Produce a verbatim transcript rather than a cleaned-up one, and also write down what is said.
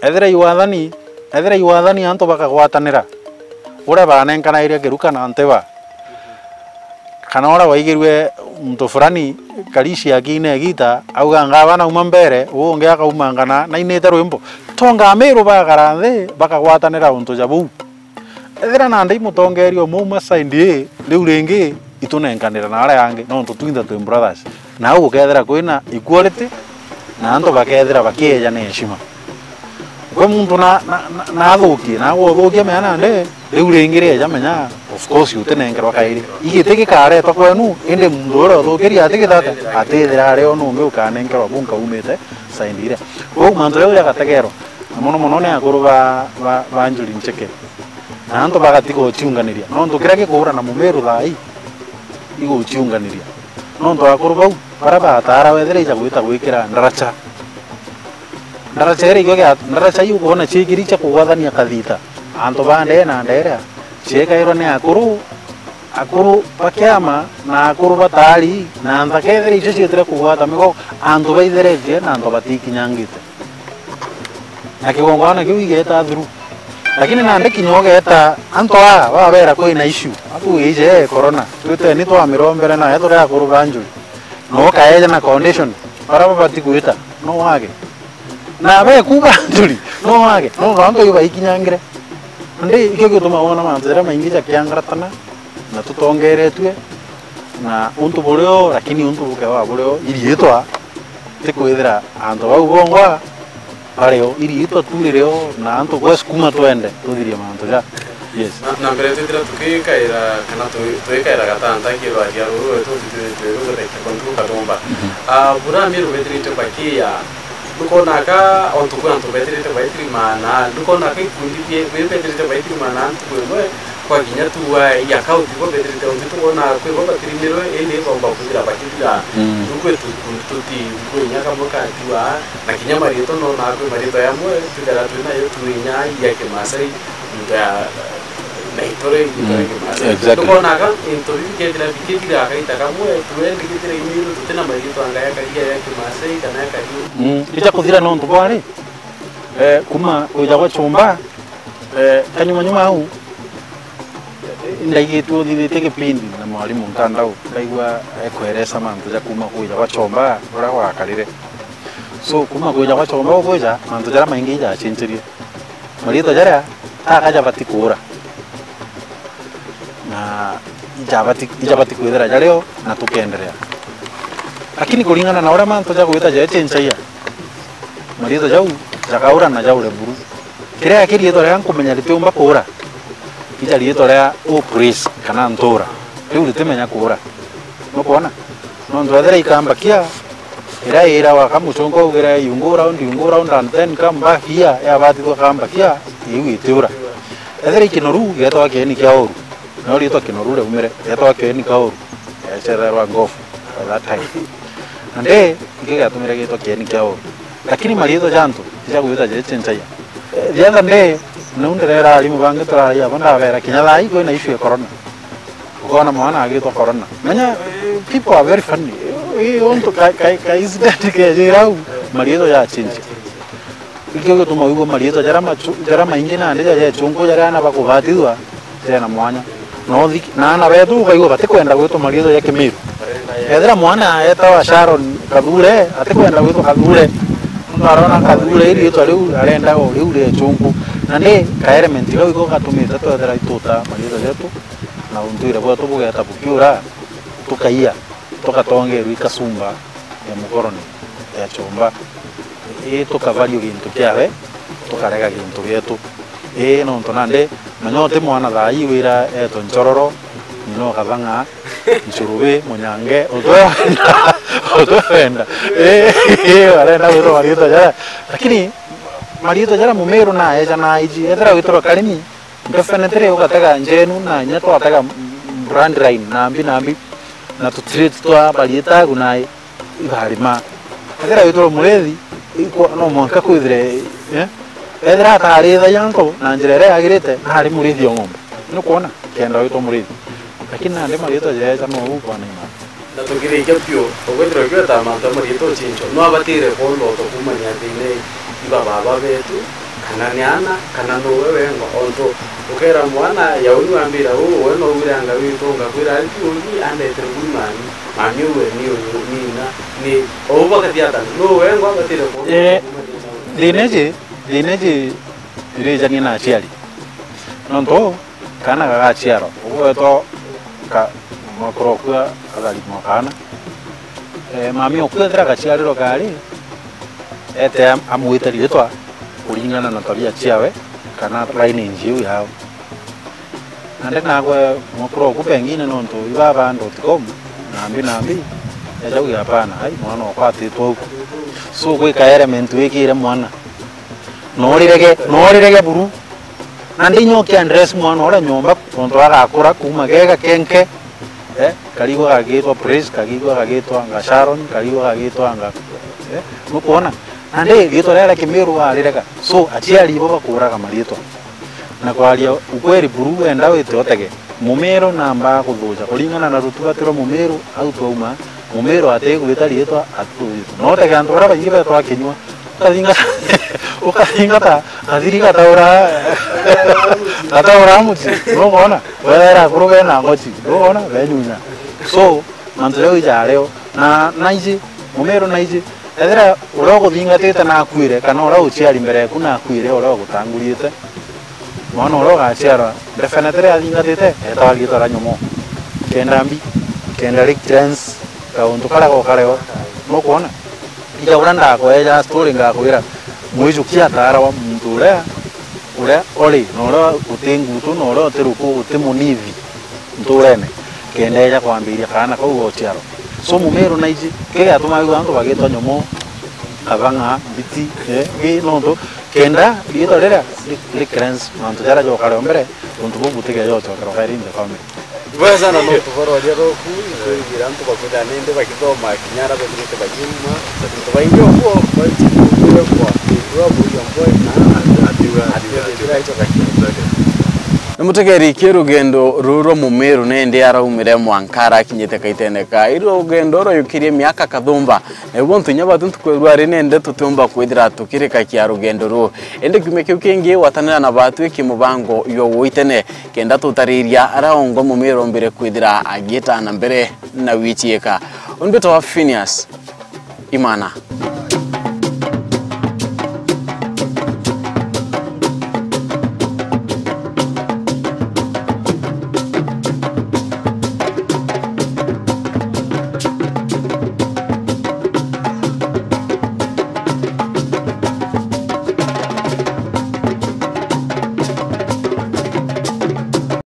Ethira i wathani, ethira i wathani antu bakagwatanira, uria banenkanaire kiruka na ntiba, kana uria waigirue muntu fulani karisi akiina igita, auga, "Ngaba nauma mbere," uu ungi akaumangana nainite rwimbo. Tonga Amiru bagakara nthi, bakagwatanira untu ja buu. Ethira nandi i mutongeria umwe uma side ii, riu ringi itunenkanira na aria angi, nontu twinthe twi brothers. Na au gukethira kwina equality, na antu bakethira bakieja na heshima. Kwi muntu na, na, na, na athukie, na aguthukia mea nandi, riu ringi rieja menya, of course, utinenkerwa kairi. Igiti gikaretwa kwenu, indi muntu uria uthukirie atigithata, atithira ari o nungi ukanenkerwa bu nkaumite side iria. Kwou mantu jau jagategerwa, na mono mono ni akuru ba, ba, ba njuri ncheke. Na antu bagatiga uciunganiria. Nontu kiria gikuura na Mumiru thaa ii, iguciunganiria. Nontu akuru bau, baria bataara wethira ija gwita gwikira ndaracha. Ndaracha iria ikio gia, ndaracha iu ukwona ciikiri cia kugwathania kathita. Antu ba ndee na nderea, ciekairwa ni akuru, akuru ba kiama, na akuru ba taari, na nthaka ethira icio cietire kugwata migo, antu baitheretie na antu batikinyangite. Na kigongwana kiu igeeta through. Lakini nandi kinya ugeeta antu aa, wabera kwina issue, aku ije corona, twiteni twamirombere nayo turi akuru ba njuri. No ukaeja na condition, baria babati gwita, no wage. Na beku ba njuri, no wage. No antu iu baikinyangire. Ndi ikio gituma wona mantu jaria maingi jakiangaratana, na tutongeretue, na untu burio, lakini untu bukewa burio, iriitwa, ti kwithira antu bau bongwa bario, iriitwa tu ririo, na antu gwesukuma twende, tuthirie mantu ja. Yes. Na, na mbere twithira tukikaira, kana tu-, twikaira gatanta kirwaria ruru rwetu, twithirite ruguthakia kuntu kathumba. Mhm. Ah, bura Amiru bethirite bakia, ndukonaga ontu kwi antu bethirite baitiri maana, ndukonaga ikundi bie-, bethirite baitiri maana ntuku imwe, kwa kinya tu wa i account bo bethirite ontu tukonaga kwi bo batirimirwe, indi baumba kuthira bakithira. Mm. Nduku itu kuntu tuti, nduku inya kamwe katua, na kinya mariitwa nona kwi mariitwa yamwe, twithira twinayo tu inya ya Kimasai, nda-, na itore, itore Mm. Kimasai. Exactly. Tukonaga into bibi kethira bikithira kaita kamwe, tuendi kithira Imiru tutina mariitwa anga ya karia ya Kimasai kana ya karia. Mm. Ija kuthira nontu bwari, eh, kuma kuja gwa chumba, eh, kanyuma nyuma au, ndaigitwe uthithitie gipindi na mwarimu Nkandau, ndaigua ekweresa mantu ja kuma kuja gwa chomba uria gwakarire. So, kuma kuja gwa chomba ukwija, mantu jaria maingi ijachencherie. Mariitwa jaria taka jabati kuura. Na ijabati, ijabati kwithira jario na tukenderea. Lakini kuringana na uria mantu jagwita jechenchagia, mariitwa jau jakaura na jaure buru. Kiria ki riitwa riria nkumenya ritiumba kuura, ija riitwa ria Upraise kana Ntura. Riu ritimenya kuura. Nukwona? Nontu ethira ikambakia, iria irawa ka muchongo augire, "You go round, you go round, and then come back here," yabatithua kambakia, iu itiura. Ethira ikinoru, igetwa kieni kia uru. No riitwa kinoru riaumire, igetwa kieni kia uru. Yachererwa ngofu at that time. Na ndi, ikio giatumire giitwa kieni kia uru. Lakini mariitwa ja antu, ija gwita jechenchagia. Eh, the other day, nau ndirera arimu bangi turari abo ndabera, kinya thaa ii kwina issue ya corona. Ukona mwana agitwa corona. Menya, eh, people are very funny. Eh, eh, untu ka, ka, ka incident kejira au, mariitwa jachenchagia. Ikio gituma wigua mariitwa jaria machu-, jaria maingi nandi ja jechunku jaria ana bakubatithua, jena mwanya. Na uthi-, na ana betu ukaigua batikwenda gwitwa mariitwa ja Kimiru. Ethira mwana etawa Sharon Kathure, atikwenda gwitwa Kathure. Nontu arona Kathure iri riitwa riu arenda o riu ria chungu. Na ni ka element kau iko gatumite twethira ituta mariitwa jetu na untuire bwetu bugeta bukiura, tukaia, tugatongerwa i kasumba ya mukoroni ya chumba. Ii tukavario gintu kiawe, tukarega gintu gietu. Ii nontu nandi, menya uti mwana thaa ii wira etwe nchororo, nyina ukathang'a, nchurubi, munyange, utwenda, utwenda. Ii, ii, arenda gwitwa mariitwa jaria. Lakini mariitwa jaria Mumiru na eja na aiji, ethira witirwa Karimi, definitely ugatega njenu na inya twatega brand line nambi nambi, na tutreat twa mariitwa agu na ibarima. Ethira witwa murithi, ikwa-, no mwanka kwithire, eh? Ethira atarithagia antu na njira iria yagirite, nari murithi o ng'ombe. Nukwona? Kenda witwa murithi. Lakini nandi mariitwa jeja no u bwana ima. Tukirikia piu, ukwithirwa kiweta mantu a mariitwa ucinchwa, no abatire kwondwa utukumania ati ni iba baba betu, kana ni ana, kana nuwe wengwa. Ontu ukera mwana, yauni wambira uu, we no wire anga witu, ngakwira ari ti uni, andetere kuri mami, mami uwe ni uyu, ni ina, ni ou bakathiatana, nuwe wengwa abatire kwondwa Eh, utukumania. Thina iji, thina iji irijania na aciari. Nontu kaana gagaciarwa, ugwetwa ka-, mwekuru oku atharithimwa kaana. Eh, mami oku ethira gaciarirwa kari, ete am-, amwite riitwa kuringana na tabia ciawe, kana lineage iu yao. Nandi nakwe mwekuru oku pengine nontu iba ba dot com, nambi nambi, eja uge, "Hapana, ai, mwana okwa atitwe au." So, gwika element wikire mwana. Norirege, norirege buru. Nandi inya ukiaddress mwana uria nyomba, tontu agakura kuuma gega kenke, eh, karigwa gagitwa Praise, karigwa gagitwa anga Sharon, karigwa gagitwa anga, eh, nukwona? Nandi riitwa riria ria Kimiru arirega. So, aciari ibo bakuraga mariitwa. Na kwaria ukweli buru, wenda wite utege. Mumiru namba kuthuja kuringana na rutugatiro Mumiru, au twauma, Mumiru atigwita riitwa, atitugwita. No utege antu baria baingi betwa kinyua, ukathingata, ukathingata kathiri gataura, gataura muti, nukwona? Wethera akuru bena ngochi, nukwona? Benyunya. So, mantu jau ijario, na naiji, Mumiru naiji, ethira uria uguthingatite nakuire, kana uria uciari mbere yaku nakuire, uria ugutangurite, mwana uria ugaciarwa, definitely athingatite, etawa riitwa ria nyomo. Kenda mbi, kenda ri cleanse, kauntu karia gokareo. Nukwona? Ija uria ndakweja story ngakwira, mwijukia ataarawa muntu uria, uria uri, na uria uti ngutu, na uria uti ruku, uti munithi nturene, kenda eja kwambiria kaana kau gociarwa. So, Mumiru naiji, kiu giatumaga antu bagitwa nyomo, abang'a, mbiti, eh, i nontu kenda riitwa riria ri-, ri cleanse mantu jaria jokareo mbere, untu buu butigeja ucokerwa kairi in the family. Ibwega sana nontu bwa rwaria rwaku, itwigire antu bakwithira nindi bagithoma kinya aria bethirite bagiuma. Antu baingi uguo, baitire kwa, kwa William Boy na atiuga, atiuga, atiuga, atiuga, atiuga, atiuga. Ni mutegeri ki rugendo ruru rwa Mumiru nindi araumire mwanka arakinyite kaitene ka iru rugendo rwayukirie miaka kathumba. Na ibu ntu inya batu ntuku ya rwari nindi tutiumba kwithira tukirikakia rugendo ruu. Indi kiumia kiu kingi gwatanira na batu iki mubango jwa guitene. Kenda tutariria aria ongwa Mumiru ombire kwithira agiita na mbere na gwiciika. Umbitwa Phineas Imana.